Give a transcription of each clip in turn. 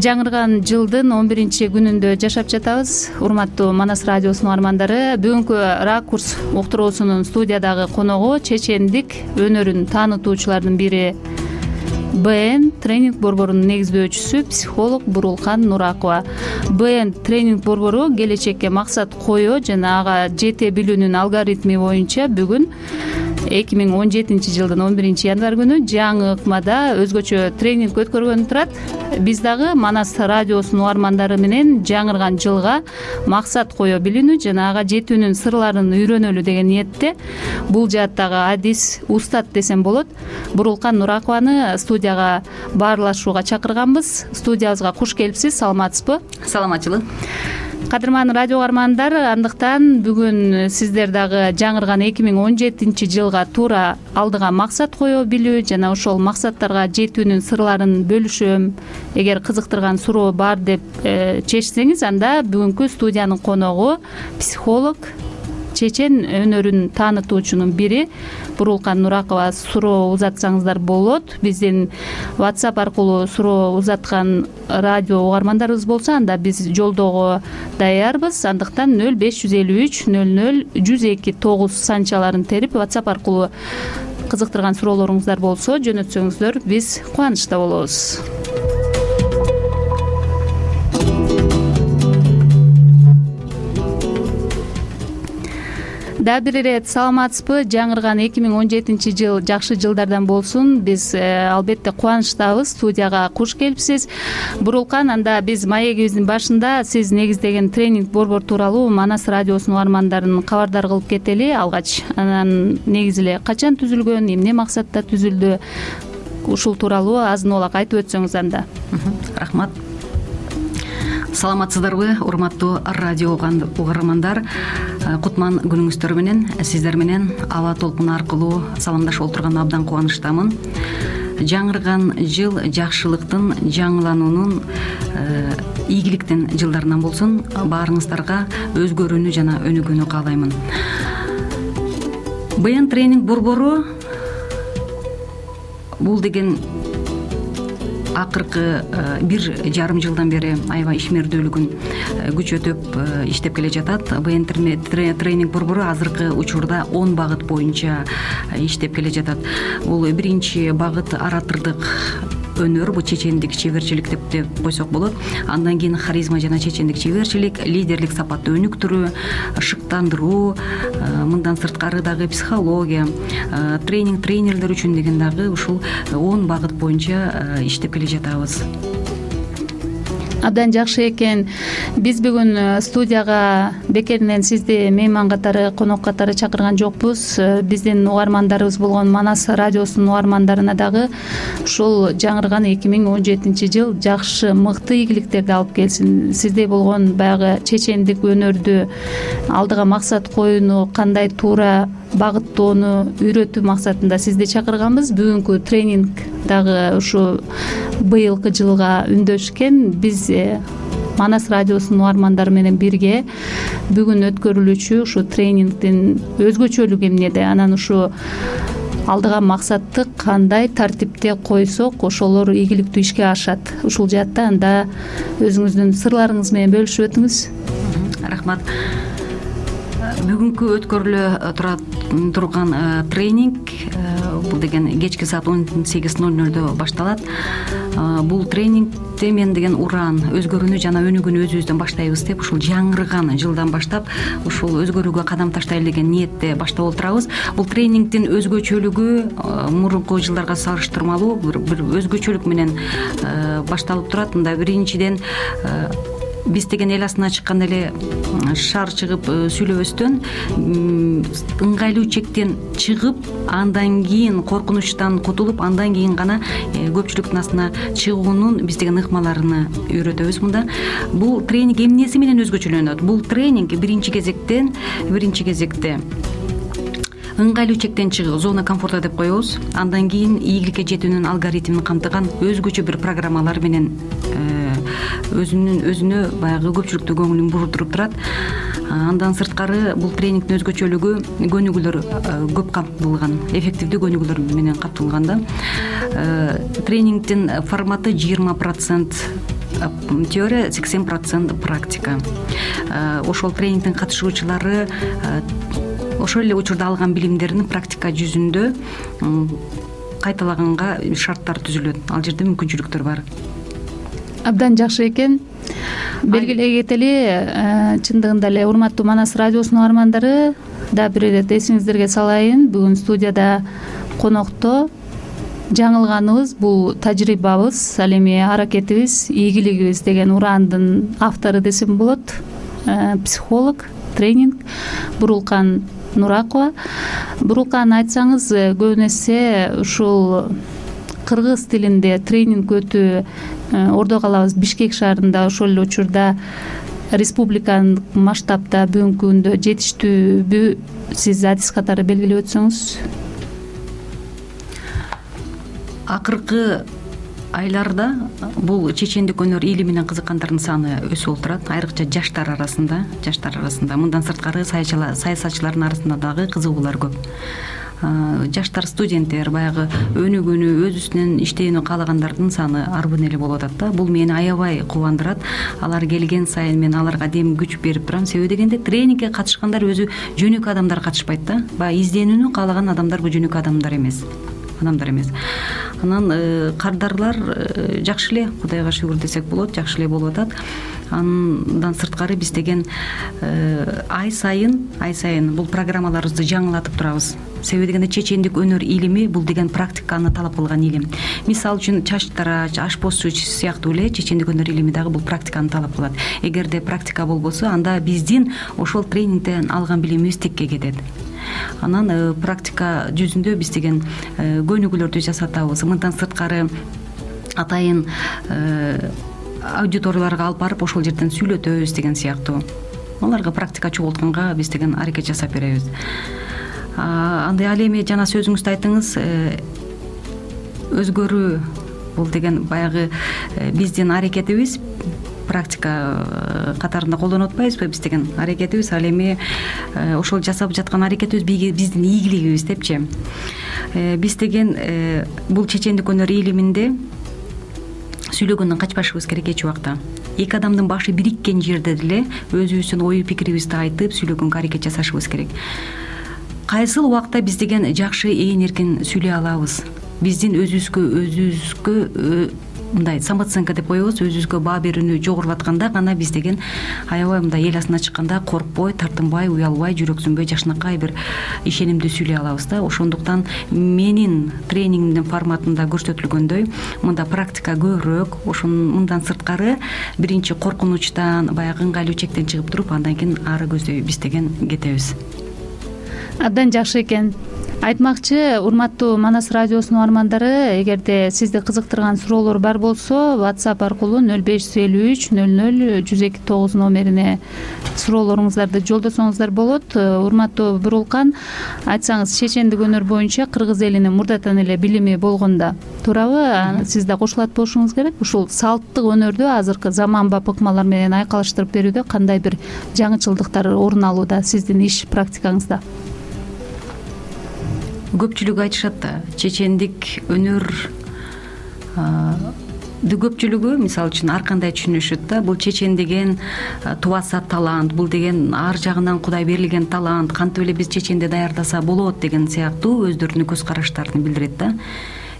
Жаңырган жылдын 11-күнүндө жашап жатабыз. Урматтуу Манас радиосунун угармандары, бүгүнкү ракурс уктуруусунун студиядагы коногу чечендик өнөрүн таанытуучулардын бири БН тренинг борборунун негиздөөчүсү психолог Бурулкан Нуракова. БН тренинг борбору келечекке максат коюу жана ага жете билүүнүн алгоритми боюнча бүгүн 2017 жылдын 11 январь күнү жаңы ыкмада өзгөчө тренинг өткөргөнү турат. Биз дагы Манас радиосунун угармандары менен жаңырган жылга максат кое билүүнү жана ага жетүүнүн сырларын үйрөнөлү деген ниетте бул жааттагы адис устат десем болот Бурулкан Нуракованы студияга баарлашууга чакырганбыз. Студиябызга куш келипсиз. Саламатсызбы? Саламатчылык. Кадырман радио угармандар, андыктан бүгүн сиздер дагы жаңырган 2017 жылга туура алдыга максат кое билүү жана ошол максаттарга жетүүнүн сырларын бөлүшөм. Эгер кызыктырган суроо бар деп чечсеңиз, анда бүгүнкү студиянын коногу психолог, чечен өнөрүн таанытуучунун бири Бурулкан Нуракова. Суроо узатсаңыздар болот. Биздин WhatsApp аркылуу суроо узаткан радио угармандарыбыз болсо, анда биз жолдоого даярбыз. Андыктан 0553 00 102 9 санчаларын терип WhatsApp аркылуу кызыктырган суроолоруңуздар болсо жөнөтсөңүздөр биз кубанычта болобуз. Дагы бир ирет саламатсызбы? Жаңырган 2017 жыл жакшы жылдардан болсун. Биз албетте кубанычтабыз. Студияга куш келипсиз. Бурулкан, анда биз маегибиздин башында сиз негиздеген тренинг борбор тууралуу Манас радиосунун угармандарын кабардар кылып кетели алгач. Анан негизи эле качан түзүлгөн, эмне максатта түзүлдү? Ушул тууралуу азын-олак айтып өтсөңүз анда. Рахмат. Саламатсыздарбы, урматтуу радио угармандар? Кутман күнүңүздөр менен сиздер менен аба толкуну аркылуу саламдашып отурган абдан кубанычтамын. Жаңырган жыл жакшылыктын, жаңылануунун, ийгиликтин жылдарынан болсун. Баарыңыздарга өзгөрүүнү жана өнүгүүнү каалаймын. БН тренинг борбору бул деген акыркы 1,5 жылдан бери аябай ишмердүүлүгүн күчөтүп иштеп келе жатат. БН тренинг борбору азыркы учурда 10 багыт боюнча иштеп келе жатат. Бул биринчи багыт оратордук өнөр, бул чечендик чеберчилик деп койсок болот. Андан кийин харизма жана чечендик чеберчилик, лидерлик сапатты өнүктүрүү, шыктандыруу, мындан сырткары дагы психология, тренерлер үчүн деген дагы ушул 10 багыт боюнча иштеп келе жатабыз. Абдан жакшы экен. Биз бүгүн студияга бекеринен сизди мейман катары, конок катары чакырган жокпуз. Биздин угармандарыбыз болгон Манас радиосунун угармандарына дагы ушул жаңырган 2017 жыл жакшы, мыкты ийгиликтерди алып келсин. Сиздей болгон баягы чечендик өнөрдү алдыга максат коюуну, кандай туура багыттоону үйрөтүү максатында сизди чакырганбыз. Бүгүнкү тренинг дагы ушу быйылкы жылга үндөшкен. Биз Манас радиосунун угармандары менен бирге бүгүн өткөрүлүүчү ушу тренингдин өзгөчөлүгү эмнеде, анан ушу алдыга максатты кандай тартипте койсок ошолор ийгиликтүү ишке ашат. Ушул жаатта анда өзүңүздүн сырларыңыз менен бөлүшүп өтүңүз. Рахмат. Бүгүнкү өткөрүлө турган тренинг бул деген кечки саат 18:00 башталат. Бул тренингде мен деген уран, өзгөрүүнү жана өнүгүүнү өзүбүздөн баштайбыз деп ушул жаңырган жылдан баштап ушул өзгөрүүгө кадам таштайлы деген ниетте баштап отурабыз. Бул тренингдин өзгөчөлүгү мурунку жылдарга салыштырмалуу бир өзгөчөлүк менен башталып турат. Мында биринчиден биз деген эл астына чыкканда эле шаар чыгып сүйлөбөстөн, ыңгайлуу чектен чыгып, андан кийин коркунучтан кутулуп, андан кийин гана көпчүлүктүн астына чыгуунун биз деген ыкмаларыны үйрөтөбүз мында. Бул тренинг эмнеси менен өзгөчөлөнөт? Бул тренинг биринчи кезекте ыңгайлуу чектен чыгуу, зона комфорта деп коебуз. Андан кийин ийгиликке жетүүнүн алгоритмин камтыган өзгөчө бир программалар менен өзүнө баягы көпчүлүктү көңүлүн бурутуруп турат. Андан сырткары бул тренингдин өзгөчөлүгү көнүгүүлөр көп камтылган, эффективдүү көнүгүүлөр менен камтылган да. Тренингдин форматы 20% теория 80% практика. Ошол тренингдин катышуучулары ошол эле учурда алган билимдерин практика жүзүндө кайталаганга шарттар түзүлөт. Ал жерде мүмкүнчүлүктөр бар. Абдан жакшы экен. Белгилей кетели, чындыгында эле урматтуу Манас радиосунун угармандары, да бир ирет эсиңиздерге салайын, бүгүн студияда конокто жаңылганыбыз бул тажрыйбабыз, ал эми аракетибиз, ийгилигибиз деген урандын автору десем болот, психолог, тренинг Бурулкан Нуракова. Бурулкан, айтсаңыз, көбүн эсе ушул кыргыз тилинде тренинг өтүү ордого алабыз Бишкек шаарында, ошол эле учурда республикалык масштабта бүгүнкү күндө жетиштүүбү сиз адис катары белгилеп өтсөңүз? Акыркы айларда бул чечендик өнөр илими менен кызыккандардын саны өсүп отурат, айрыкча жаштар арасында. Мындан сырткары саясатчылардын арасында дагы кызыгуулар көп. Жаштар, студенттер, баягы өнүгүүнү, өз үстүнөн иштөөнү каалагандардын саны арбын эле болуп атат да. Бул мени аябай кубандырат. Алар келген сайын мен аларга дем күч берип турам. Себеби дегенде тренингке катышкандар өзү жөнөкөй адамдар катышпайт да. Баягы изденүүнү каалаган адамдар бул жөнөкөй адамдар эмес. Анан кардарлар жакшы эле, Кудайга шүгүр десек болот, жакшы эле болуп атат. Андан сырткары биз деген ай сайын бул программаларыбызды жаңылатып турабыз. Себеби дегенде чечендик өнөр илими бул деген практиканы талап кылган илим. Мисалы үчүн чач тарач, ашпозчу сыяктуу эле чечендик өнөр илими дагы бул практиканы талап кылат. Эгерде практика болбосо, анда биздин ошол тренингден алган билимибиз текке кетет. Анан практика жүзүндө биз деген көнүгүүлөрдү жасатабыз. Мындан сырткары атайын аудиторияларга алып барып ошол жерден сүйлөтөбүз деген сыяктуу. Аларга практика чогултканга биз деген аракет жасап беребиз. Андай ал эми жана сөзүңүздө айттыңыз, өзгөрүү бул деген баягы биздин аракетибиз, практика катарында колдонуп атпайбызбы биз деген аракетибиз, ал эми ошол жасап жаткан аракетибиз биздин ийгилигибиз депчи. Биз деген бул чечендик өнөр илиминде сүйлөгөндөн качпашыбыз керек эч убакта. Эки адамдын башы бириккен жерде деле өзүбүздүн ою пикирибизди айтып сүйлөгөнгө аракет жасашыбыз керек. Кайсыл убакта биз деген жакшы ээн эркин сүйлөй алабыз. Биздин өзүбүзгө мындай самооценка деп коебуз, өзүбүзгө баа берүүнү жогорулап атканда гана биз деген аябай мындай эл асына чыкканда коркпой, тартынбай, уялбай, жүрөксүнбөй, жашынакай бир ишенимдүү сүйлөй алабыз да. Ошондуктан менин тренингимдин форматында көрсөтүлгөндөй мында практика көбүрөөк, мындан сырткары биринчи коркунучтан, баягы ыңгайлуу чектен чыгып туруп, андан кийин ары көздөй биз деген кетебиз. Абдан жакшы экен. Айтмакчы, урматтуу Манас радиосунун угармандары, эгерде сизди кызыктырган суроолор бар болсо, WhatsApp аркылуу 0553 00 102 номерине суроолоруңуздарды жолдосоңуздар болот. Урматтуу Бурулкан, айтсаңыз, чечендик өнөр боюнча кыргыз элинин мурдатан эле билими болгондо туурабы? Сиз да кошулат болушуңуз керек. Ушул салттык өнөрдү азыркы заманбап ыкмалар менен айкалыштырып берүүдө кандай бир жаңычылдыктар орун алууда сиздин иш практикаңызда? Көпчүлүк айтышат да, чечендик өнөр көпчүлүгү мисалы үчүн ар кандай түшүнүшөт да. Бул чечен деген тубаса талант, бул деген ар жагынан Кудай берилген талант, кантип эле биз чеченди даярдаса болот деген сыяктуу өздөрүнүн көз караштарын билдирет да.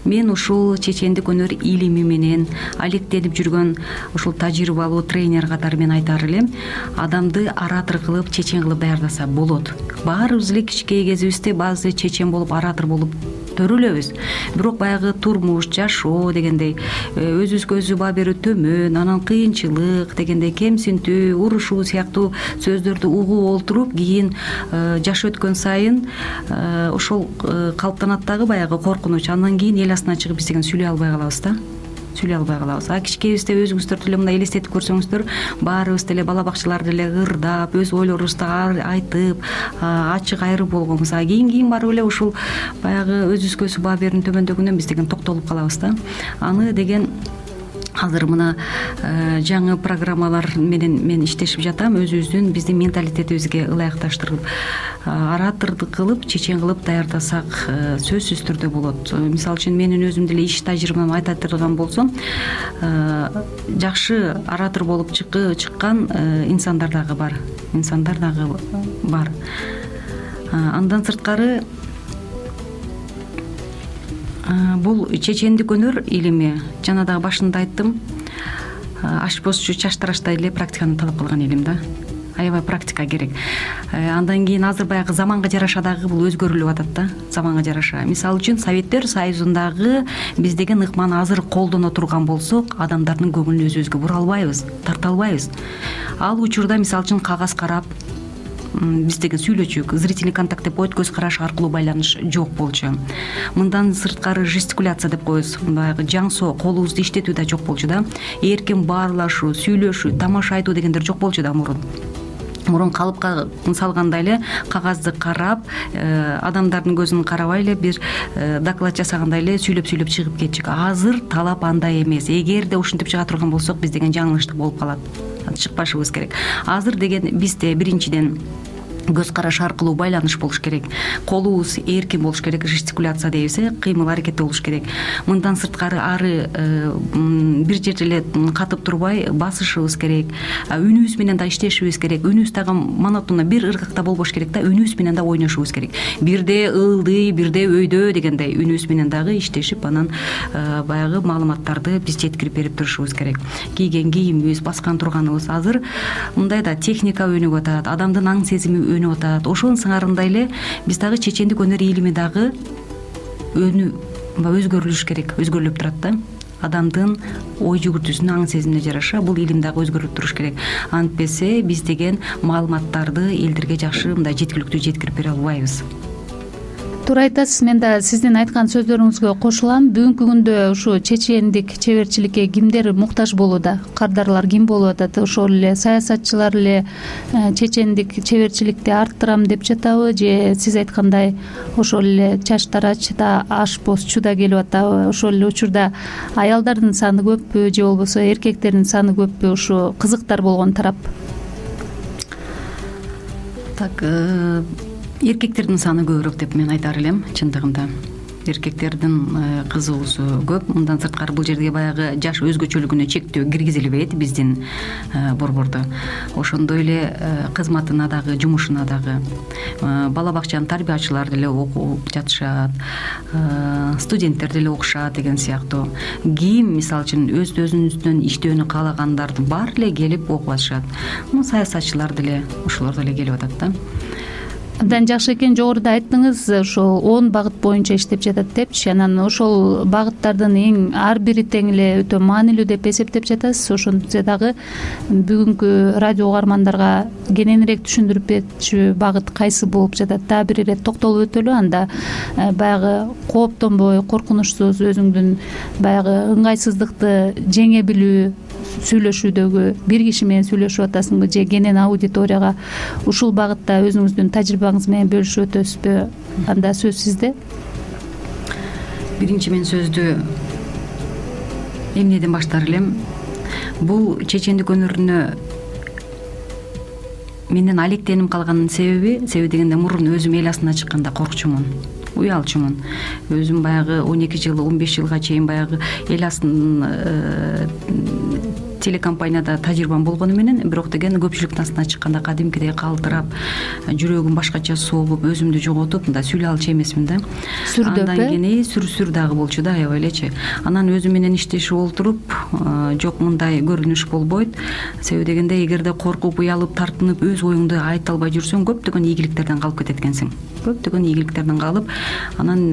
Мен ушул чечендик өнөр илими менен алектенип жүргөн ушул тажрыйбалуу тренер катары мен айтаар элем, адамды оратор кылып, чечен кылып даярдаса болот. Баарыбыз эле кичинекей кезибизде баазы чечен болуп, оратор болуп төрөлөбүз. Бирок баягы турмуш, жашоо дегендей, өзүбүзгө өзү баа берүү төмөн, анан кыйынчылык дегендей, кемсинтүү, урушуу сыяктуу сөздөрдү угуп олтуруп, кийин жаш өткөн сайын ошол калыптанат дагы баягы коркунуч. Андан кийин эл асына чыгып биз деген сүйлөй албай калабыз да. Кичинекейибизде өзүңүздөр деле мындай элестетип көрсөңүздөр, баарыбыз деле бала бакчаларда эле ырдап, өз ойлорубузду айтып, ачык айрып болгонбуз. Кийин барып эле ушул баягы өзүбүзгө өзү баа берүүнүн төмөндөгүнөн биз деген токтолуп калабыз да. Аны деген азыр мына жаңы программалар менен мен иштешип жатам. Өзүбүздүн биздин менталитетибизге ылайыкташтырып ораторду кылып, чечен кылып даярдасак сөзсүз түрдө болот. Мисалы үчүн менин өзүм деле иш тажрыйбамды айта турган болсом, жакшы оратор болуп чыккан инсандар дагы бар. Андан сырткары бул чечендик өнөр илими, жана дагы башында айттым, ашпозчу чаштыраштай эле практиканы талап кылган илим да. Аябай практика керек. Андан кийин азыр баягы заманга жараша дагы бул өзгөрүлүп атат да, заманга жараша. Мисалы үчүн Советтер Союзундагы биз деген ыкманы азыр колдоно турган болсок, адамдардын көңүлүн өзүбүзгө бура албайбыз, тарта албайбыз. Ал учурда мисалы үчүн кагаз карап биз деген сүйлөчүк, зрительный контакт деп коет, көз караш аркылуу байланыш жок болчу. Мындан сырткары жестикуляция деп коебуз, баягы жаңсоо, колубузду иштетүү да жок болчу да. Эркин баарлашуу, сүйлөшүү, тамаша айтуу дегендер жок болчу да мурун калыпка салгандай эле кагазды карап, адамдардын көзүн карабай эле бир доклад жасагандай эле сүйлөп чыгып кетчүк. Азыр талап андай эмес. Эгерде ушинтип чыга турган болсок, биз деген жаңылыштык болуп калат. Чыкпашыбыз керек. Азыр деген бизде биринчиден көз караш аркылуу байланыш болуш керек. Колубуз эркин болуш керек, жестикуляция дейбиз, кыймыл аракетте болуш керек. Мындан сырткары ары бир жерде эле катып турбай басышыбыз керек. Үнүбүз менен да иштешибиз керек. Үнүбүз дагы монотонно бир ыргакта болбош керек да, үнүбүз менен да ойношубуз керек. Бирде ылдый, бирде өйдө дегендей үнүбүз менен дагы иштешип, анан баягы маалыматтарды биз жеткирип берип турушубуз керек. Кийген кийимибиз, баскан турганыбыз азыр мындай да техника өнүгүп атат, адамдын аң сезими өнүп атат. Ошонун сыңарындай эле биз дагы чечендик өнөр илими дагы өзгөрүлүш керек, өзгөрүлүп турат да. Адамдын ой жүгүртүүсүнө, аң сезимине жараша бул илим дагы өзгөрүп туруш керек. Антпесе биз деген маалыматтарды элдерге жакшы мындай жеткиликтүү жеткирип бере албайбыз. Туура айтасыз. Мен да сиздин айткан сөздөрүңүзгө кошулам. Бүгүнкү күндө ушу чечендик чеберчиликке кимдер муктаж болууда? Кардарлар ким болуп атат? Ошол эле саясатчылар эле чечендик чеберчиликти арттырам деп жатабы, же сиз айткандай ошол эле чаштарач да, ашпозчу да келип атабы? Ошол эле учурда аялдардын саны көппү, же болбосо эркектердин саны көппү ушу кызыктар болгон тарап? Так, эркектердин саны көбүрөөк деп мен айтар элем. Чындыгында эркектердин кызыгуусу көп. Мындан сырткары бул жерге баягы жаш өзгөчөлүгүнө чектөө киргизилбейт биздин борбордо. Ошондой эле кызматына дагы, жумушуна дагы бала бакчанын тарбиячылары деле окуп жатышат, студенттер деле окушат деген сыяктуу. Ким мисалы үчүн өзүнүн иштөөнү каалагандар бар эле келип окуп атышат. Саясатчылар деле, ошолор деле келип атат да. Абдан жакшы экен. Жогоруда айттыңыз, ошол 10 багыт боюнча иштеп жатат депчи. Анан ошол багыттардын ар бири тең эле өтө маанилүү деп эсептеп жатасыз. Ошондо дагы бүгүнкү радио угармандарга кененирээк түшүндүрүп берчү багыт кайсы болуп жатат? Дагы бир ирет токтолуп өтөлү. Анда баягы кооптонбой, коркунучсуз өзүңдүн баягы ыңгайсыздыкты жеңе билүү, сүйлөшүүдөгү бир киши менен сүйлөшүп атасыңбы, же кенен аудиторияга ушул багытта өзүңүздүн тажрыйбаңыз менен бөлүшүп өтөсүзбү? Анда сөз сизде. Биринчи мен сөздү эмнеден баштар элем? Бул чечендик өнөрүнө менден алектенип калганын себеби дегенде мурун өзүм эл астына чыкканда коркчумун, уялчумун. Өзүм баягы 12 жыл, 15 жылга чейин баягы эл астынын телекомпанияда тажрыйбам болгону менен, бирок деген көпчүлүктүн астына чыкканда кадимкидей калтырап, жүрөгүм башкача согуп, өзүмдү жоготуп, мындай сүйлөй алчу эмесмин да. Сүрдөп, андан кийин сүр дагы болчу да, аябай элечи. Анан өзүм менен иштешип олтуруп, жок мындай көрүнүш болбойт. Себеби дегенде эгерде коркуп, уялып, тартынып, өз оюңду айта албай жүрсөң, көптөгөн ийгиликтерден калып кетет экенсиң. Көптөгөн ийгиликтерден калып, анан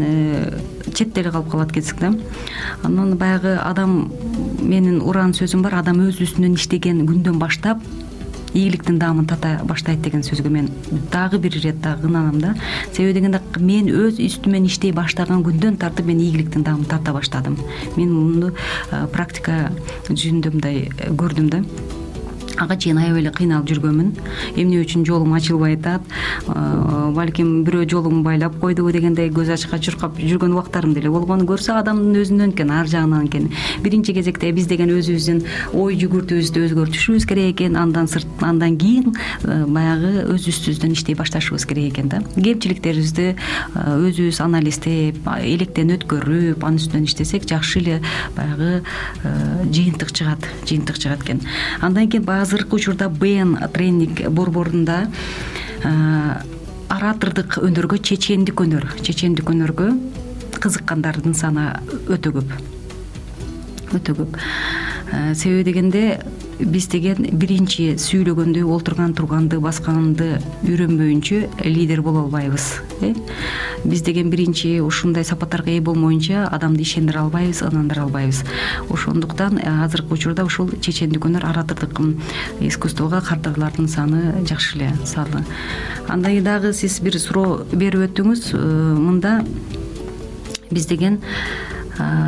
четте эле калып калат экенсиң да. Анан баягы адам, менин уран сөзүм бар, адам өз үстүнөн иштеген күндөн баштап ийгиликтин даамын тата баштайт деген сөзгө мен дагы бир ирет дагы ынанам да. Себеби дегенде мен өз үстүмөн иштей баштаган күндөн тартып мен ийгиликтин даамын тарта баштадым. Мен муну практика жүзүндө мындай көрдүм да. ага чейин аябай эле кыйналып жүргөнмүн. Эмне үчүн жолум ачылбай атат, балким бирөө жолумду байлап койдубу дегендей көз ачка чуркап жүргөн убактарым деле болгон. Көрсө адамдын өзүнөн экен, ар жагынан экен. Биринчи кезекте биз деген өзүбүздүн ой жүгүртүүбүздү өзгөртүшүбүз керек экен, андан кийин баягы өзүбүздөн иштей башташыбыз керек экен да. Кемчиликтерибизди өзүбүз анализдеп, электен өткөрүп, анын үстүнөн иштесек жакшы эле баягы жыйынтык чыгат экен. Андан кийин азыркы учурда БН тренинг борборунда оратордук өнөргө, чечендик өнөргө кызыккандардын саны өтө көп. Себеби дегенде биз деген биринчи сүйлөгөндү, турганды, басканды үйрөнбөйүнчө лидер боло албайбыз. Биз деген биринчи ушундай сапаттарга ээ болмоюнча адамды ишендире албайбыз, ынандыра албайбыз. Ошондуктан азыркы учурда ушул чечендик өнөр, оратордук искусствого кардырлардын саны жакшы эле салды. Андан кийин дагы сиз бир суроо берип өттүңүз. Мында биз деген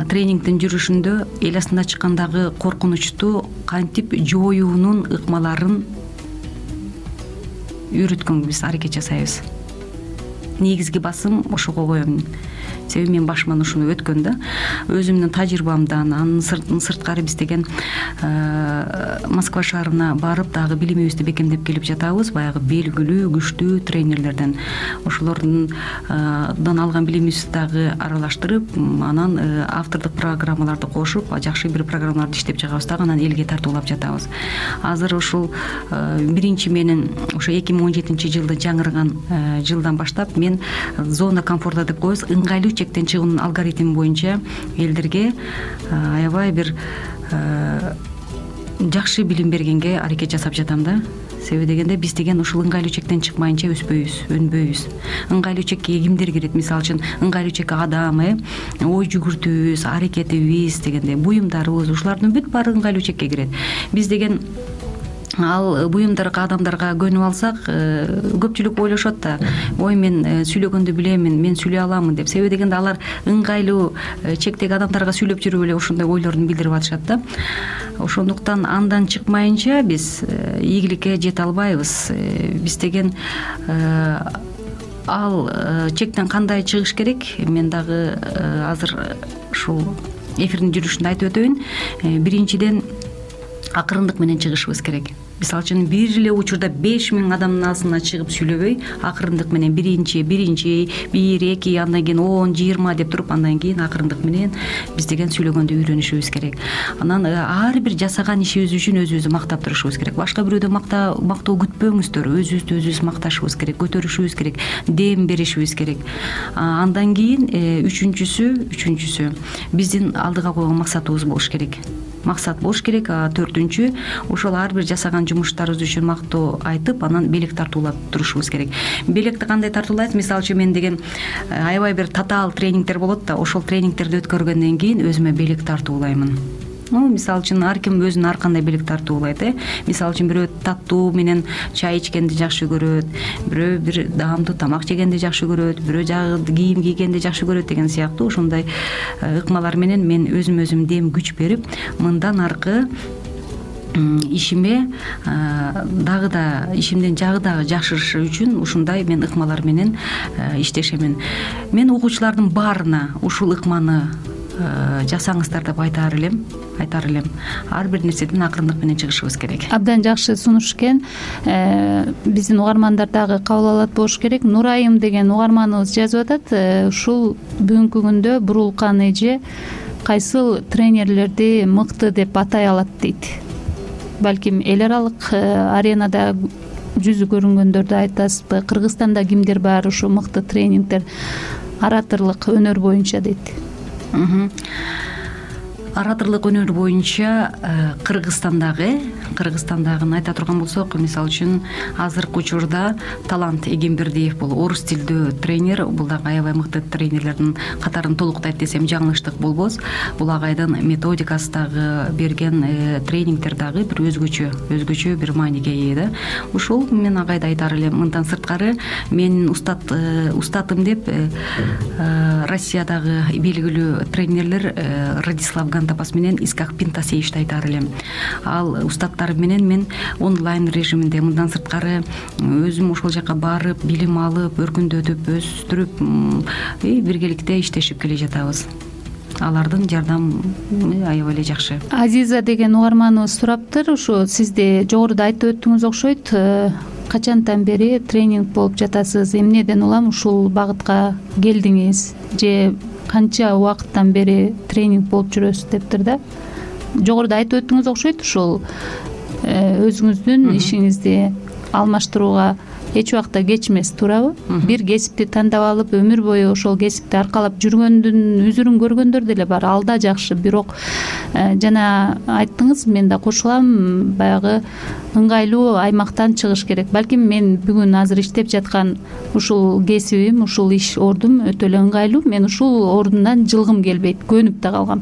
тренингдин жүрүшүндө эл астына чыккандагы коркунучту кантип жоюунун ыкмаларын үйрөткөнгө биз аракет жасайбыз. Негизги басым ошого коем. Себеби мен башыман ушуну өткөн да. Өзүмдүн тажрыйбамдан, анын сырткары биз деген Москва шаарына барып дагы билимибизди бекемдеп келип жатабыз. Баягы белгилүү, күчтүү тренерлерден. Ошолордун алган билимибизди дагы аралаштырып, анан автордук программаларды кошуп, жакшы бир программаларды иштеп чыгабыз дагы, анан элге тартуулап жатабыз. Азыр ушул биринчи менин ошо 2017-жылды жаңырган жылдан баштап мен зона комфорта деп коебуз, ыңгайлуу чектен чыгуунун алгоритми боюнча элдерге аябай бир жакшы билим бергенге аракет жасап жатам да. Себеби дегенде биз деген ушул ыңгайлуу чектен чыкмайынча өспөйбүз, өнбөйбүз. Ыңгайлуу чекке кимдер кирет? Мисалы үчүн ыңгайлуу чекке адам, ой жүгүртүүбүз, аракетибиз дегенде, буюмдарыбыз, ушулардын бүт баары ыңгайлуу чекке кирет. Биз деген ал буюмдарга, адамдарга көнүп алсак, көпчүлүк ойлошот да, ой мен сүйлөгөндү билемин, мен сүйлөй аламын деп. Себеби дегенде алар ыңгайлуу чектеги адамдарга сүйлөп жүрүп эле ошондой ойлорун билдирип атышат да. Ошондуктан андан чыкмайынча биз ийгиликке жете албайбыз. Биз деген ал чектен кандай чыгыш керек? Мен дагы азыр ушул эфирдин жүрүшүндө айтып өтөйүн. Биринчиден акырындык менен чыгышыбыз керек. Мисалы үчүн бир эле учурда 5000 адамдын алдына чыгып сүйлөбөй, акырындык менен биринчи, 1, 2, андан кийин 10, 20 деп туруп, андан кийин акырындык менен биз деген сүйлөгөндү үйрөнүшүбүз керек. Анан ар бир жасаган ишибиз үчүн өзүбүздү мактап турушубуз керек. Башка бирөөдөн мактоо күтпөңүздөр, өзүбүз макташыбыз керек, көтөрүшүбүз керек, дем беришибиз керек. Андан кийин үчүнчүсү биздин алдыга койгон максатыбыз болуш керек. Төртүнчү, ошол ар бир жасаган жумуштарыбыз үчүн мактоо айтып, анан белек тартуулап турушубуз керек. Белекти кандай тартуулайбыз? Мисалы үчүн мен деген аябай бир татаал тренингдер болот да, ошол тренингтерди өткөргөндөн кийин өзүмө белек тартуулаймын. Мисалы үчүн ар ким өзүнө ар кандай белек тартуулайт. Мисалы үчүн бирөө таттуу менен чай ичкенди жакшы көрөт, бирөө бир даамдуу тамак жегенди жакшы көрөт, бирөө жагы кийим кийгенди жакшы көрөт деген сыяктуу ошондой ыкмалар менен мен өзүм дем күч берип, мындан аркы ишимден жагы дагы жакшырышы үчүн ушундай мен ыкмалар менен иштешемин. Мен окуучулардын баарына ушул ыкманы жасаңыздар деп айтаар элем. Ар бир нерседен акырындык менен чыгышыбыз керек. Абдан жакшы сунуш экен. Биздин угармандар дагы кабыл алат болуш керек. Нурайым деген угарманыбыз жазып атат. Ушул бүгүнкү күндө бурулкан эже кайсыл тренерлерди мыкты деп атай алат дейт. Балким эл аралык аренада жүзү көрүнгөндөрдү айтасызбы? Кыргызстанда кимдер бар ушу мыкты тренингдер, ораторлук өнөр боюнча дейт. Ораторлук өнөр боюнча Кыргызстандагын айта турган болсок, мисалы үчүн азыркы учурда Талант Эгембердиев бул орус тилдүү тренер, бул дагы аябай мыкты тренерлердин катарын толуктайт десем жаңылыштык болбос. Бул агайдын методикасы дагы, берген тренингдер дагы бир өзгөчө бир мааниге ээ да. Ушул мен агайды айтаар элем. Мындан сырткары менин устатым деп Россиядагы белгилүү тренерлер Радислав Антапас менен Искак Пинтасевичти айтаар элем. Ал устаттар менен мен онлайн режиминде мындан сырткары өзүм ошол жака барып, билим алып, өркүндөтүп, өстүрүп биргеликте иштешип келе жатабыз. Алардын жардамы аябай эле жакшы. Азиза деген угарманыбыз сураптыр. Ушу сизде жогоруда айтып өттүңүз окшойт. Качантан бери тренинг болуп жатасыз? Эмнеден улам ушул багытка келдиңиз? Же канча убакыттан бери тренинг болуп жүрөсүз дептир да. Жогоруда айтып өттүңүз окшойт. Ушул өзүңүздүн ишиңизди алмаштырууга эч убакта кеч эмес, туурабы? Бир кесипти тандап алып, өмүр бою ошол кесипти аркалап жүргөндүн үзүрүн көргөндөр деле бар. Ал да жакшы, бирок жана айттыңыз, мен да кошулам, баягы ыңгайлуу аймактан чыгыш керек. Балким мен бүгүн азыр иштеп жаткан ушул кесибим, ушул иш ордум өтө эле ыңгайлуу. Мен ушул ордундан жылгым келбейт, көнүп да калгам.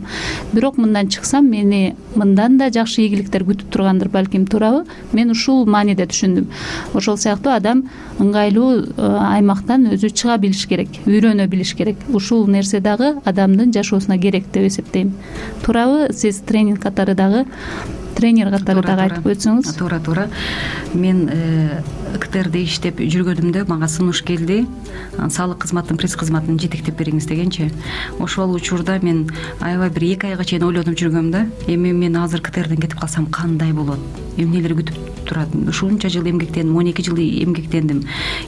Бирок мындан чыксам, мени мындан да жакшы ийгиликтер күтүп тургандыр, балким, туурабы? Мен ушул мааниде түшүндүм. Ошол сыяктуу адам ыңгайлуу аймактан өзү чыга билиш керек, үйрөнө билиш керек. Ушул нерсе дагы адамдын жашоосуна керек деп эсептейм. Туурабы? Сиз тренер катары дагы айтып өтсөңүз. Туура. Мен КТРде иштеп жүргөнүмдө мага сунуш келди. Салык кызматынын пресс кызматын жетектеп бериңиз дегенчи. Ошол учурда мен аябай бир 2 айга чейин ойлонуп жүргөм да. Эми мен азыр КТРден кетип калсам кандай болот? Эмнелер күтүп турат? Ушунча жыл эмгектендим, 12 жыл эмгектендим.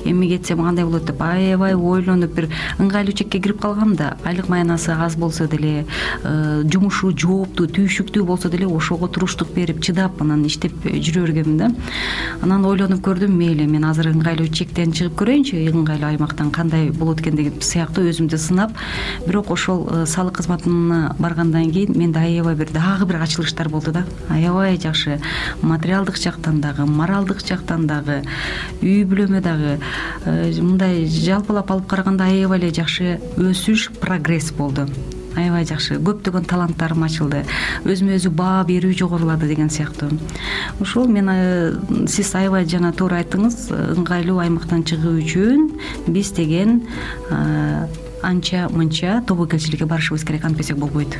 Эми кетсем кандай болот деп аябай ойлонуп бир ыңгайлуу чекке кирип калгам да. Айлык маянасы аз болсо деле, жумушу жооптуу, түйшүктүү болсо деле ошого туруштук берип, чыдап анан иштеп жүрө бергем да. Анан ойлонуп көрдүм, мейли, мен азыр ыңгайлуу чектен чыгып көрөйүнчү, ыңгайлуу аймактан кандай болот экен деген сыяктуу өзүмдү сынап, бирок ошол салык кызматына баргандан кийин менде аябай дагы бир ачылыштар болду да. Аябай жакшы, материалдык жактан дагы, моралдык жактан дагы, үй бүлөмө дагы мындай жалпылап алып караганда аябай эле жакшы өсүш, прогресс болду. Аябай жакшы, көптөгөн таланттарым ачылды, өзүмө өзү баа берүү жогорулады деген сыяктуу. Ушул мен сиз аябай жана туура айттыңыз, ыңгайлуу аймактан чыгуу үчүн биз деген анча мынча тобокелчиликке барышыбыз керек, антпесек болбойт.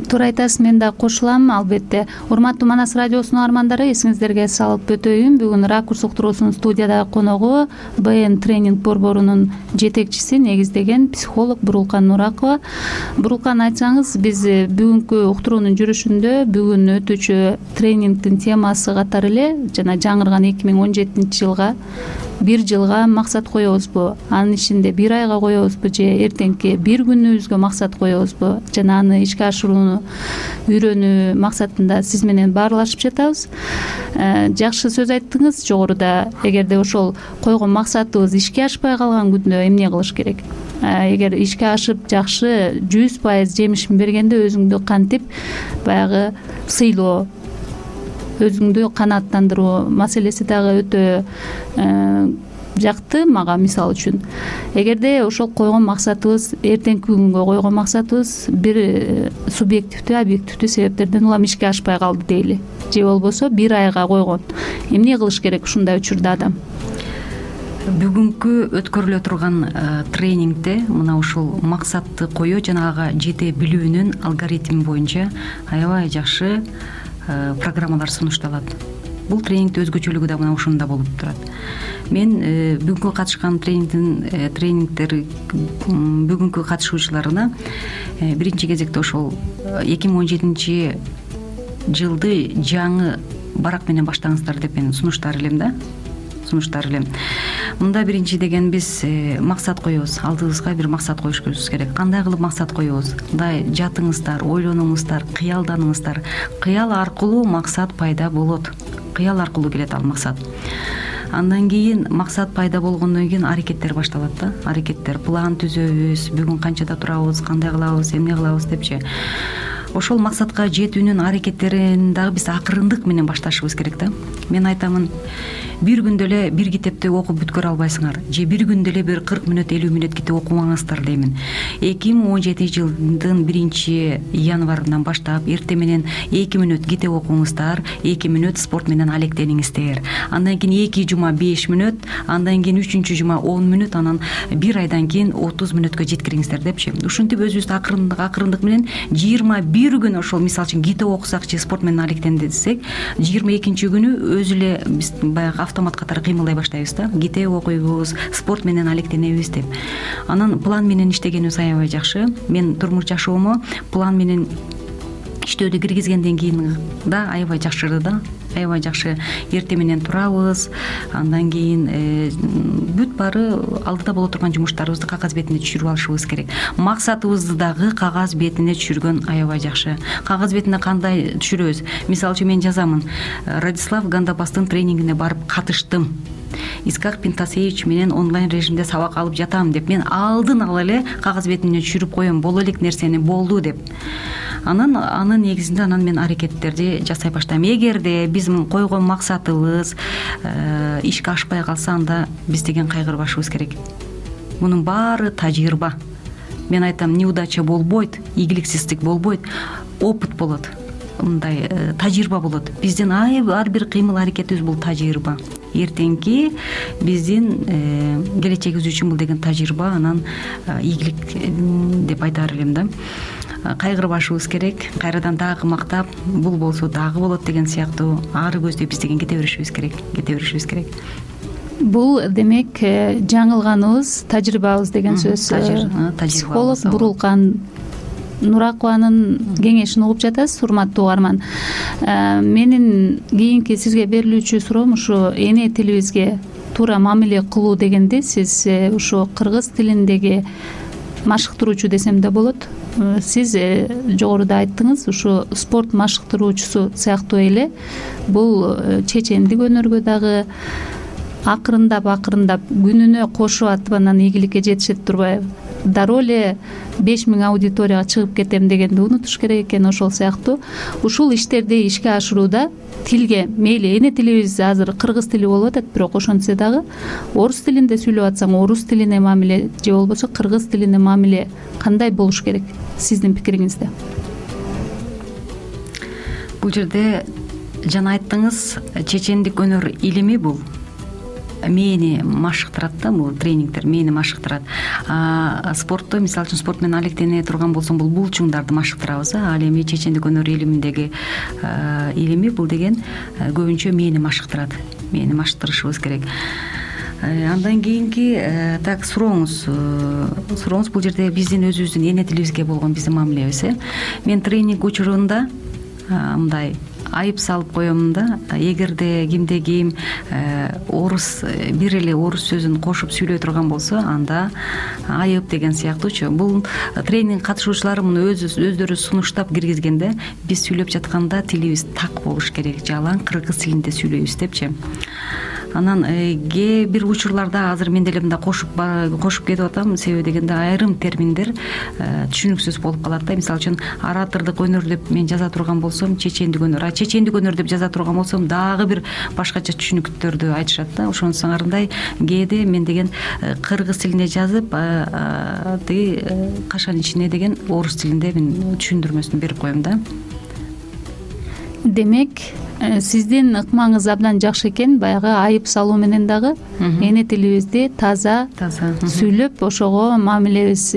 Туура айтасыз, мен да кошулам, албетте. Урматтуу Манас радиосунун угармандары, эсиңиздерге салып өтөйүн. Бүгүн Ракурс уктуруусунун студияда коногу БН тренинг борборунун жетекчиси, негиздеген психолог Бурулкан Нуракова. Бурулкан, айтсаңыз, биз бүгүнкү уктуруунун жүрүшүндө бүгүн өтүүчү тренингдин темасы катары эле жана жаңырган 2017-жылга бир жылга максат коебузбу, анын ичинде бир айга коебузбу же эртеңки бир күнүбүзгө максат коебузбу, жана аны ишке ашырууну үйрөнүү максатында сиз менен баарлашып жатабыз. Жакшы сөз айттыңыз жогоруда. Эгерде ошол койгон максатыбыз ишке ашпай калган күндө эмне кылыш керек? Эгер ишке ашып жакшы 100% жемишин бергенде өзүңдү кантип баягы сыйлоо, өзүңдү канааттандыруу маселеси дагы өтө жакты мага. Мисал үчүн, эгерде ошол койгон максатыбыз, эртеңки күнгө койгон максатыбыз бир субъективдүү, объективдүү себептерден улам ишке ашпай калды дейли, же болбосо бир айга койгон, эмне кылыш керек ушундай учурда адам? Бүгүнкү өткөрүлө турган тренингде мына ушул максатты коюу жана ага жете билүүнүн алгоритми боюнча аябай жакшы программалар сунушталат. Бул тренингдин өзгөчөлүгү да мына ушунда болуп турат. Мен бүгүнкү катышкан тренингдер бүгүнкү катышуучуларына биринчи кезекте ошол 2017 жылды жаңы барак менен баштаңыздар деп мен сунуштар элем. Мында биринчи деген биз максат коебуз, алдыбызга бир максат коюшубуз керек. Кандай кылып максат коебуз? Мындай жатыңыздар, ойлонуңуздар, кыялданыңыздар. Кыял аркылуу максат пайда болот. Кыял аркылуу келет ал максат. Андан кийин максат пайда болгондон кийин аракеттер башталат да. Аракеттер, план түзөбүз, бүгүн канчада турабыз, кандай кылабыз, эмне кылабыз депчи. Ошол максатка жетүүнүн аракеттерин дагы биз акырындык менен башташыбыз керек да. Мен айтамын, бир күндө эле бир китепти окуп бүткөрө албайсыңар же бир күндө эле бир 40 мүнөт 50 мүнөт китеп окумаңыздар деймин. 2017 жылдын 1-январынан баштап эртең менен 2 мүнөт китеп окуңуздар, 2 мүнөт спорт менен алектениңиздер. Андан кийин 2 жума 5 мүнөт, андан кийин 3 жума 10 мүнөт, анан бир айдан кийин 30 мүнөткө жеткириңиздер депчи. Ушинтип өзүбүздү акырындык менен 21 күн ошол мисалы үчүн китеп окусакчы, спорт менен алектендисек, 22 күнү өзү эле биз баягы автомат катары кыймылдай баштайбыз да. Китеп окуйбуз, спорт менен алектенебиз деп. Анан план менен иштегенибиз аябай жакшы. Мен турмуш жашоомо план менен иштөөдү киргизгенден кийин да аябай жакшырды да. Аябай жакшы. Эртең менен турабыз, андан кийин бүт баары алдыда боло турган жумуштарыбызды кагаз бетине түшүрүп алышыбыз керек. Максатыбызды дагы кагаз бетине түшүргөн аябай жакшы. Кагаз бетине кандай түшүрөбүз? Мисалы үчүн мен жазамын: Радислав Гандапастын тренингине барып катыштым. Искак Пинтасевич менен онлайн режимде сабак алып жатам деп мен алдын ала эле кагаз бетине түшүрүп коем, боло элек нерсени болду деп. Анын негизинде анан мен аракеттерди жасай баштайм. Эгерде биздин койгон максатыбыз ишке ашпай калса, анда биз деген кайгырбашыбыз керек. Мунун баары тажрыйба. Мен айтам, неудача болбойт, ийгиликсиздик болбойт, опыт болот. Мындай тажрыйба болот. Биздин ар бир кыймыл аракетибиз бул тажрыйба. Эртеңки биздин келечегибиз үчүн бул деген тажрыйба, анан ийгилик деп айтар элем да. Кайгырбашыбыз керек. Кайрадан дагы мактап, бул болсо дагы болот деген сыяктуу ары көздөй биз деген кете беришибиз керек. Бул демек жаңылганыбыз, тажрыйбабыз деген сөз. Психолог Бурулкан Нуракованын кеңешин угуп жатасыз, урматтуу угарман. Менин кийинки сизге берилүүчү суроом ушу эне тилибизге туура мамиле кылуу дегенде, сиз ушу кыргыз тилиндеги машыктыруучу десем да болот. Сиз жогоруда айттыңыз, ушу спорт машыктыруучусу сыяктуу эле бул чечендик өнөргө дагы акырындап күнүнө кошуп атып анан ийгиликке жетишет турбайбы? Дароо эле 5000 аудиторияга чыгып кетем дегенди унутуш керек экен. Ошол сыяктуу ушул иштерди ишке ашырууда тилге, мейли эне тилибиз азыр кыргыз тили болуп атат, бирок ошентсе дагы орус тилинде сүйлөп атсаң орус тилине мамиле, же болбосо кыргыз тилине мамиле кандай болуш керек сиздин пикириңизде? Бул жерде жана айттыңыз, чечендик өнөр илими бул мээни машыктырат да, бул тренингдер мээни машыктырат. Спортто, мисалы үчүн спорт менен алектене турган болсом, бул булчуңдарды машыктырабыз. Ал эми чечендик өнөр илиминдеги илими бул деген көбүнчө мээни машыктырат. Мээни машыктырышыбыз керек. Андан кийинки так сурооңуз бул жерде биздин өзүбүздүн эне тилибизге болгон биздин мамилебиз. Мен тренинг учурунда мындай айып салып коем да, эгерде кимде ким орус бир эле орус сөзүн кошуп сүйлөй турган болсо, анда айып деген сыяктуучу. Бул тренинг катышуучулары муну өздөрү сунуштап киргизгенде, биз сүйлөп жатканда тилибиз так болуш керек, жалаң кыргыз тилинде сүйлөйбүз депчи. Анан кээ бир учурларда азыр мен деле мындай кошуп кетип атам, себеби дегенде айрым терминдер түшүнүксүз болуп калат да. Мисалы үчүн аратырдык өнөр деп мен жаза турган болсом, чечендик өнөр, чечендик өнөр деп жаза турган болсом, дагы бир башкача түшүнүктөрдү айтышат да. Ошонусуңарындай кээде мен деген кыргыз тилинде жазып, тиги кашанын ичине деген орус тилинде мен түшүндүрмөсүн берип коем да. Демек, сиздин ыкмаңыз абдан жакшы экен. Баягы айып салуу менен дагы эне тилибизди таза сүйлөп, ошого мамилебиз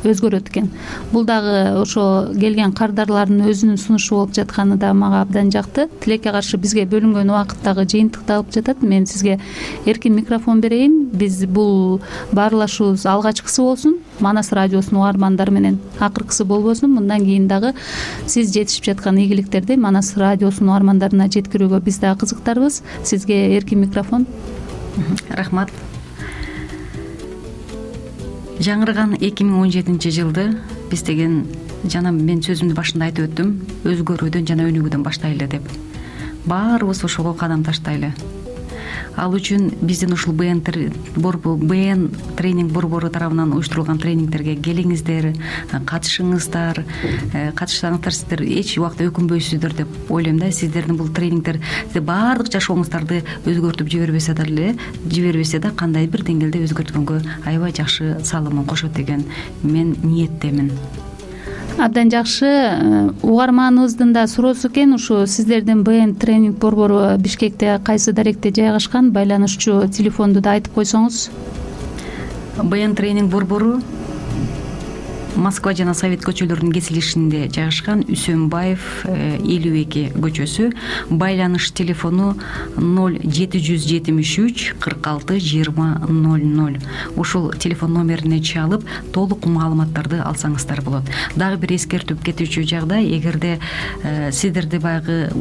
өзгөрөт экен. Бул дагы ошо келген кардарлардын өзүнүн сунушу болуп жатканы да мага абдан жакты. Тилекке каршы бизге бөлүнгөн убакыттагы жыйынтыкталып жатат. Мен сизге эркин микрофон берейин. Биз бул баарлашуубуз алгачкысы болсун. Манас радиосунун угармандары менен акыркысы болбосун. Мындан кийин дагы сиз жетишип жаткан ийгиликтерди Манас радиосунун угармандарына жеткирүүгө биз дагы кызыктарбыз. Сизге эркин микрофон. Рахмат. Жаңырган 2017 жылды биз деген, жана мен сөзүмдүн башында айтып өттүм, өзгөрүүдөн жана өнүгүүдөн баштайлы деп. Баарыбыз ошого кадам таштайлы. Ал үчүн биздин ушул БН тренинг борбору тарабынан уюштурулган тренингтерге келиңиздер, катышыңыздар. Катышсаңыздар сиздер эч убакта өкүнбөйсүздөр деп ойлойм да. Сиздердин бул тренингтер баардык жашооңуздарды өзгөртүп жибербесе да кандай бир деңгээлде өзгөрткөнгө аябай жакшы салымын кошот деген мен ниеттемин. Абдан жакшы. Угарманыбыздын да суроосу экен, ушу сиздердин БН тренинг борбору Бишкекте кайсы даректе жайгашкан, байланышчу телефонду да айтып койсоңуз. БН тренинг борбору Москва жана Совет көчөлөрүнүн кесилишинде жайгашкан, Үсөнбаев 52 көчөсү. Байланыш телефону 0773 46 20 00. Ушул телефон номерине чалып, толук маалыматтарды алсаңыздар болот. Дагы бир эскертип кетүүчү жагдай, эгерде сиздерди баягы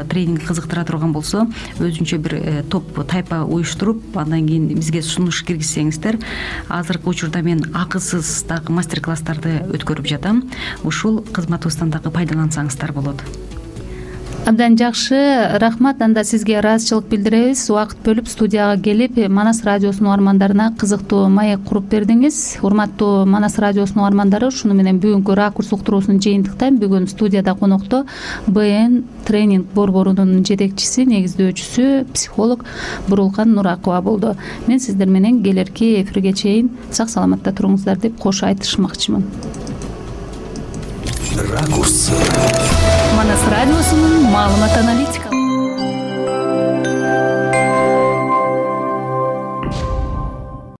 тренинг кызыктыра турган болсо, өзүнчө бир топ тайпа уюштуруп, андан кийин бизге сунуш киргизсеңиздер, азыркы учурда мен акысыз дагы мастер-класстарды өткөрүп жатам. Ушул кызматыбыздан дагы пайдалансаңыздар болот. Абдан жакшы, рахмат. Анда сизге ыраазычылык билдиребиз. Убакыт бөлүп студияга келип, Манас радиосунун угармандарына кызыктуу маек куруп бердиңиз. Урматтуу Манас радиосунун угармандары, ушуну менен бүгүнкү ракурс уктуруусун жыйынтыктайм. Бүгүн студияда конокто БН тренинг борборунун жетекчиси, негиздөөчүсү, психолог Бурулкан Нуракова болду. Мен сиздер менен келерки эфирге чейин сак саламатта туруңуздар деп кош айтышмакчымын. Ракурс. Манас радиосунун маалымат аналитикалык